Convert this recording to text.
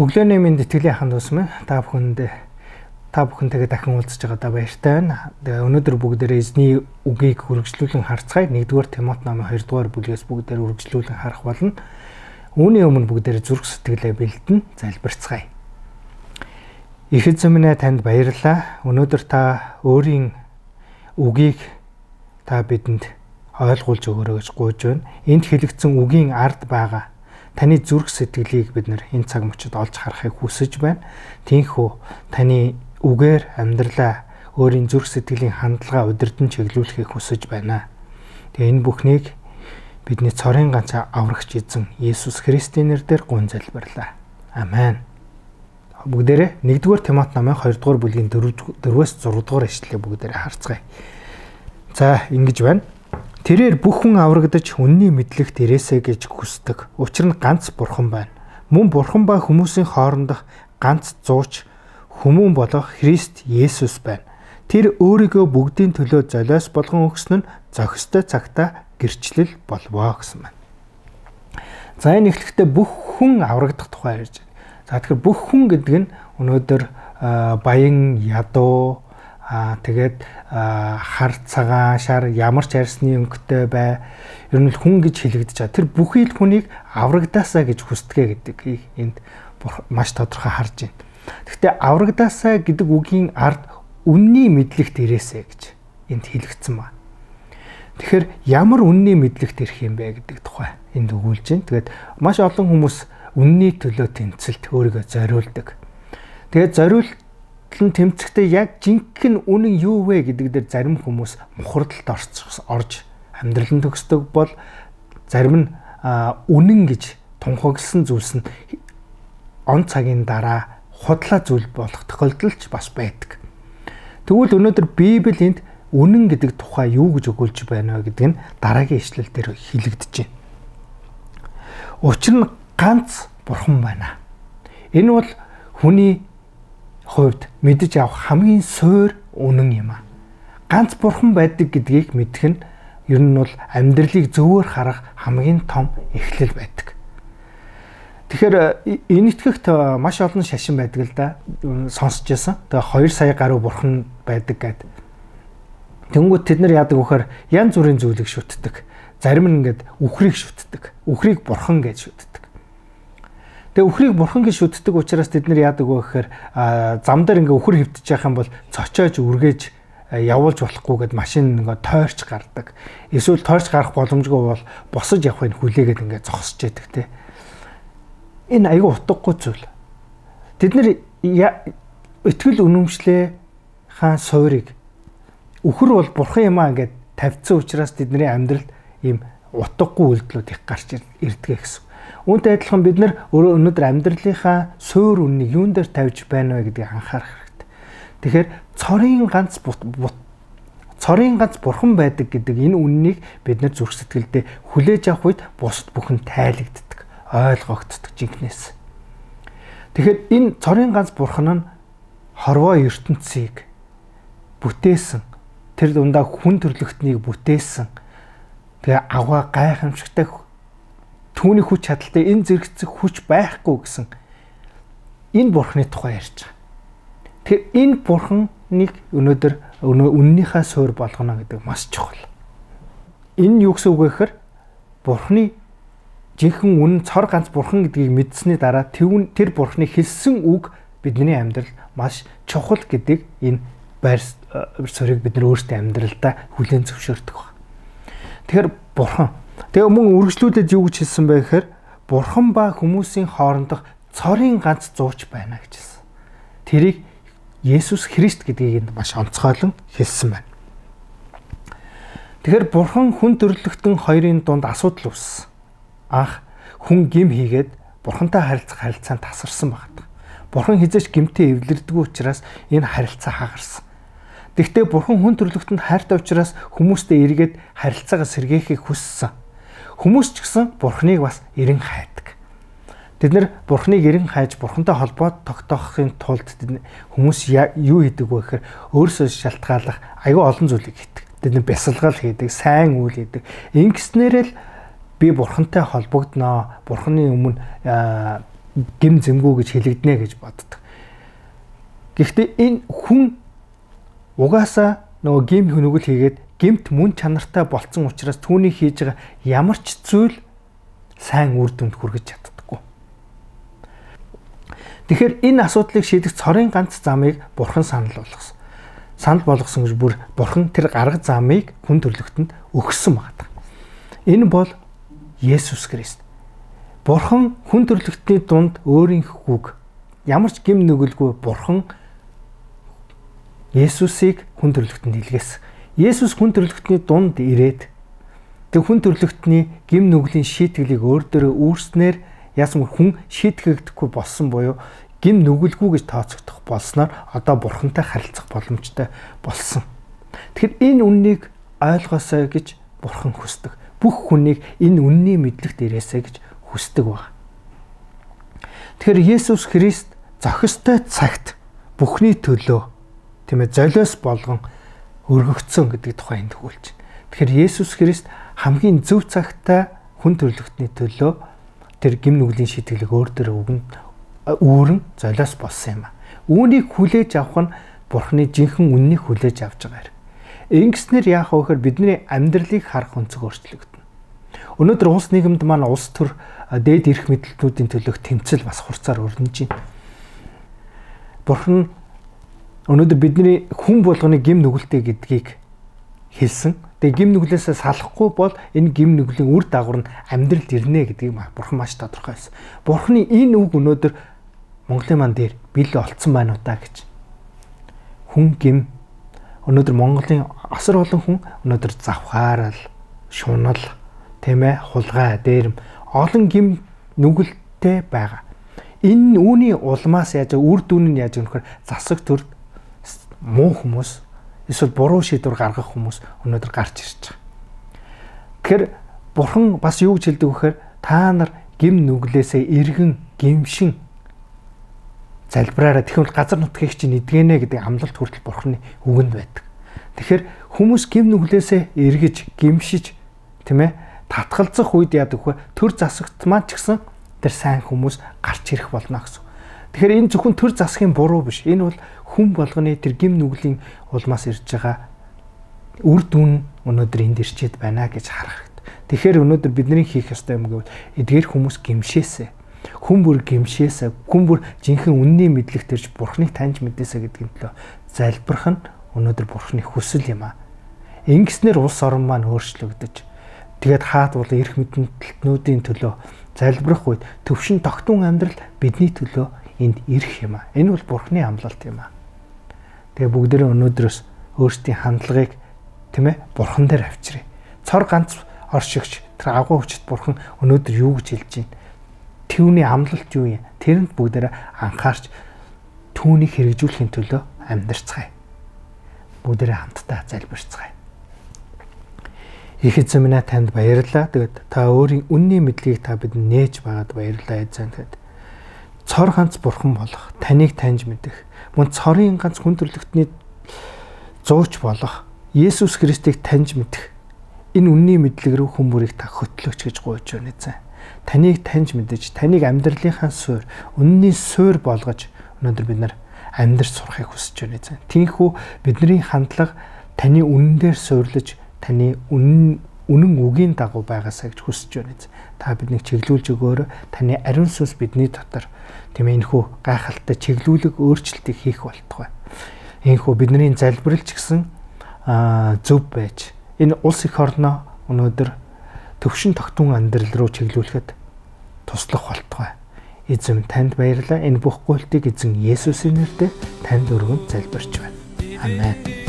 Өглөөний минь итгэлийн аханд усмын та бүхэнтэйгээ дахин уулзж байгаадаа баяртай байна. Тэгээ өнөөдөр бүгдээрээ эзний үгийг үргэлжлүүлэн харцгаая. 1-р Тимот номын 2-р бүлгээс бүгдээрээ үргэлжлүүлэн харах болно. Үүний өмнө бүгдээрээ зүрх сэтгэлээ бэлдэн залбирцгаая. Их эзэн минь танд баярлалаа. Өнөөдөр та өөрийн үгийг та бидэнд ойлгуулж өгөөрэй гэж гуйж байна. Энд хэлэгдсэн үгийн ард байгаа таны зүрх сэтгэлийг бид нэр энэ цаг мөчид олж харахыг хүсэж байна. Тиймээс таны үгээр амьдралаа өөрийн зүрх сэтгэлийн хандлага удирдан чиглүүлэхийг хүсэж байна. Тэгээ энэ бүхнийг бидний цорын ганц аврагч эзэн Есүс Христийн нэрээр гун залбирлаа. Амен. Бүгдээрээ 1-р Тимот номын 2-р бүлгийн 4-өөс 6-р ишлэлийг бүгдээрээ харцгаая. За, ингэж байна. Тэрээр бүх хүн аврагдаж үнний мэдлэгт ирээсэ гэж хүсдэг. Учир нь ганц бурхан байна. Мөн бурхан ба хүмүүсийн хоорондох ганц зууч хүмүүн болох Христ Есүс байна. Тэр өөрийгөө бүгдийн төлөө золиос болгон өгсөн нь зохистой цагтаа гэрчлэл болвоо гэсэн байна. За энэ эхлэхдээ бүх хүн аврагдах тухай ярьж байна. За тэгэхээр бүх хүн гэдэг нь өнөөдөр баян ядуу тэгээд хар цагаан шар ямар ч арьсны өнгөтэй бай. Ер нь хүн гэж хэлэгдэж байгаа. Тэр бүхий л хүнийг аврагдаасаа гэж хүсдэгэ гэдэг энд маш тодорхой харж байна. Гэхдээ аврагдаасаа гэдэг үгийн ард үнний мэдлэгт ирээсэ гэж энд хэлэгдсэн байна. Тэгэхээр ямар үнний мэдлэгт ирэх юм бэ гэдэг тухай энд өгүүлж байна. Тэгээд маш олон хүмүүс үнний төлөө тэмцэлд өөрийгөө зориулдаг. Тэгээд зориулт тэмцэхдээ яг жинхэнэ үнэн юу вэ гэдэг дээр зарим хүмүүс мухардалд орж амьдралын төгсдөг бол зарим нь үнэн гэж тунхагласан зүйлс нь он цагийн дараа худлаа зүйл болох тохиолдол ч бас байдаг. Тэгвэл өнөөдөр Библи энд үнэн гэдэг тухай юу гэж өгүүлж байна вэ гэдэг нь дараагийн ишлэл дээр хэлэгдэж байна. Учир нь ганц бурхан байна. Энэ бол хүний хувьд мэдэж авах хамгийн суур үнэн юм аа. Ганц бурхан байдаг гэдгийг мэдэх нь ер нь бол амьдралыг зөвөр харах хамгийн том эхлэл байдаг. Тэгэхээр энэ итгэгт маш олон шашин байдаг л да. Сонсч байсан. Тэгээ 2 сая гаруй бурхан байдаг гэдэг. Тэнгүүд тэд нар яадаг вөхөр янз бүрийн зүйлийг шүтдэг. Зарим нь ингээд үхрийг шүтдэг. Үхрийг бурхан гэж шүтдэг. Тэгээ үхрийг бурхан гэж шүтдэг учраас тэд нар яадаг вэ гэхээр зам дээр ингээ үхэр хөвтөж явах юм бол цочоож үргээж явуулж болохгүй гэд машин ингээ тойрч гардаг. Эсвэл тойрч гарах боломжгүй бол босож явахыг хүлээгээд ингээ зогсож яадаг те. Энэ аюу утгагүй зүйл. Тэд нар итгэл үнэмшлээ хаан суурийг үхэр бол бурхан юм аа гэд тавьсан учраас тэдний амьдралд ийм утгагүй үйлдэлүүд их гарч ирдэг гэсэн. Үүнтэй адилхан бид нар өнөөдөр амьдралынхаа суур үннийг юун дээр тавьж байна вэ гэдгийг анхаарах хэрэгтэй. Тэгэхээр цорын ганц бурхан байдаг гэдэг энэ үннийг бид нар зүрх сэтгэлдээ хүлээж авах үед бусад бүхэн тайлагддаг, ойлгогддог жинхнээс. Тэгэхээр энэ цорын ганц бурхан нь хорвоо ертөнцийг бүтээсэн, тэр дундаа хүн төрлөختнийг бүтээсэн. Тэгээ аваа гайхамшигтай түүний хүч чадалтай энэ зэрэгцэх хүч байхгүй гэсэн энэ бурхны тухай ярьж байгаа. Тэгэхээр энэ бурхныг өнөөдөр үннийхээ суур болгоно гэдэг маш чухал. Энэ юу гэсэн үг вэ гэхээр бурхны жинхэнэ үнэн цор ганц бурхан гэдгийг мэдсэний дараа тэр бурхны хэлсэн үг бидний амьдрал маш чухал гэдэг энэ байр суурийг бид нар өөрсдөө амьдралдаа хүлээн зөвшөөрдөг байна. Тэгэхээр бурхан тэгээ мөн үргэлжлүүлээд юу гэж хэлсэн бэ гэхээр бурхан ба хүмүүсийн хоорондох цорын ганц зууч байна гэж хэлсэн. Тэрийг Есүс Христ гэдгийг маш онцгойлон хэлсэн байна. Тэгэхээр бурхан хүн төрлөختөн хоёрын дунд асуудал үүссэн. Анх хүн гим хийгээд бурхантай харилцах харилцаанд тасарсан байна. Бурхан хизээч гимтээ эвлэрдэггүй учраас энэ харилцаа хагарсан. Гэхдээ бурхан хүн төрлөختөнд хайртай учраас хүмүүстэй эргээд харилцаагаа сэргээхийг хүссэн. Хүмүүс ч гэсэн бурханыг бас эрен хайдаг. Тэд нэр Бурхныг эрен хайж Бурхантай холбоо тогтоохын тулд хүмүүс юу хийдэг вэ гэхээр өөрсдөө шалтгааллах аюу олон зүйлийг хийдэг. Тэд нэр бясалгал хийдэг, сайн үйл хийдэг. Ингэснээрэл би Бурхантай холбогдноо, Бурханы өмнө гим зэмгүү гэж хэлэгдэнэ гэж боддог. Гэхдээ энэ хүн угаасаа нөгөө гим хөнөглөл хийгээд гимт мөн чанартай болцсон учраас түүний хийж байгаа ямар ч зүйл сайн үр дүнд хүргэж чаддаггүй. Тэгэхээр энэ асуудлыг шийдэх цорын ганц замыг Бурхан санал болгосон. Санал болгосон гэж бүр Бурхан тэр гарга замыг хүн төрлөختөнд өгсөн байна. Энэ бол Есүс Христ. Бурхан хүн төрлөختний дунд өөрийнхгүйг ямар ч гим нүгэлгүй Бурхан Есүсийг хүн төрлөختөнд илгээсэн. Есүс хүн төрлөختний дунд ирээд тэг хүн төрлөختний гим нүглийн шийтгэлийг өөр дөрөө үүрснээр яасан хүн шийтгэгдэхгүй болсон буюу гим нүгэлгүй гэж тооцогдох болсноор одоо Бурхантай харилцах боломжтой болсон. Тэгэхээр энэ үннийг ойлгоосой гэж Бурхан хүсдэг. Бүх хүнийг энэ үнний мэдлэгт ирээсэй гэж хүсдэг баг. Тэгэхээр Есүс Христ зохистой цагт бүхний төлөө тийм ээ золиос болгон өргөгдсөн гэдэг тухай энд өгүүлж байна. Тэгэхээр Есүс Христ хамгийн зөв цагтаа хүн төрлөختний төлөө тэр гим нүглийн шийтгэлийг өөр дөрөө үүрэн золиос болсон юм а. Үүнийг хүлээж авах нь Бурханы жинхэнэ үннийг хүлээж авч байгаа юм. Ингэснээр яах вэ гэхээр бидний амьдралыг харах өнцөг өөрчлөгдөнө. Өнөөдөр улс нийгэмд маань улс төр дээд эрх мэдлэлтнүүдийн төлөөх тэмцэл бас хурцаар өрнөж байна. Бурхан өнөөдөр бидний хүн болгоны гим нүгэлтэй гэдгийг хэлсэн. Тэгээ гим нүглээсээ салахгүй бол энэ гим нүглийн үр дагавар нь амьдралд ирнэ гэдгийг Бурхан маш тодорхой хэлсэн. Бурханы энэ үг өнөөдөр Монголын маань дээр бил олцсон байна уу та гэж. Хүн гим өнөөдөр Монголын асар олон хүн өнөөдөр завхаарал, шунал, тийм ээ, хулгай, дээрэм олон гим нүгэлтэй байгаа. Энэ үүний улмаас яаж үр дүн нь яаж өнөхөр засаг төр муу хүмүүс эсвэл буруу шийдвэр гаргах хүмүүс өнөөдөр гарч ирж байгаа. Тэгэхээр Бурхан бас юу гэж хэлдэг вэхээр та нар гим нүглээсээ эргэн гимшин залбираараа тэгвэл газар нутгийг чинь эдгэнэ гэдэг амлалт хүртэл Бурханы үгэнд байдаг. Тэгэхээр хүмүүс гим нүглээсээ эргэж гимшиж тийм ээ татгалзах үед яадаг вэ? Төр засагт маань ч гэсэн тэр сайн хүмүүс гарч ирэх болно гэсэн. Тэгэхээр энэ зөвхөн төр засгийн буруу биш. Энэ бол хүн болгоны тэр гим нүглийн улмаас ирж байгаа үр дүн өнөөдөр энд ирчээд байна гэж харах хэрэгтэй. Тэгэхээр өнөөдөр бидний хийх ёстой юм гэвэл эдгээр хүмүүс гимшээсэ. Хүн бүр гимшээсэ. Хүн бүр жинхэнэ үнний мэдлэгт ирж Бурханыг таньж мэдээсэ гэдгийн төлөө залбирх нь өнөөдөр Бурханы хүсэл юм аа. Ингэснээр улс орн маань өөрчлөгдөж тэгээд хаад бол эрх мэдлэлтнүүдийн төлөө залбирх үед төвшин тогтун амьдрал бидний төлөө энд ирэх юм аа. Энэ бол Бурханы амлалт юм аа. Тэгээ бүгдээрээ өнөөдрөөс өөрсдийн хандлагыг тийм ээ Бурхан дээр авчиръя. Цор ганц оршигч тэр агуу хүчит Бурхан өнөөдөр юу гэж хэлж байна? Түүний амлалт юу юм? Тэрэнд бүгдээрээ анхаарч түүнийг хэрэгжүүлэхийн төлөө амьдарцгаая. Бүгдээрээ хамтдаа залбирцгаая. Их эзэн минь танд баярлалаа. Тэгээд та өөрийн үнний мэдлэгийг та бидэнд нээж байгаад баярлалаа эзэн. Тэгээд цор ганц Бурхан болох, таныг таньж мэдэх, мөн цорын ганц хүн төрлөختний зууч болох Есүс Христийг таньж мэдэх энэ үнний мэдлэг рүү хүмүүрийг та хөтлөөч гэж гуйж байна эзэн. Таныг таньж мэдэж, таныг амьдралынхаа суурь, үнний суурь болгож өнөөдөр бид нар амьдрч сурахыг хүсэж байна эзэн. Тиймээс бидний хандлага таны үнэн дээр суйрлаж, таны үнэн үгийн дагуу байгаасаа гэж хүсэж байна эзэн. Та биднийг чиглүүлж өгөөрэй. Таны ариун сүнс бидний дотор тийм ээ энэхүү гайхалтай чиглүүлэг өөрчлөлтийг хийх болтугай. Энэхүү бидний залбиралч гэсэн зөв байж энэ улс их орноо өнөөдөр төвшин тогтун амьдрал руу чиглүүлэхэд туслах болтугай. Эзэн танд баярлалаа. Энэ бүх гуйлтыг эзэн Есүсийн нэрээр танд өргөн залбирч байна. Амен.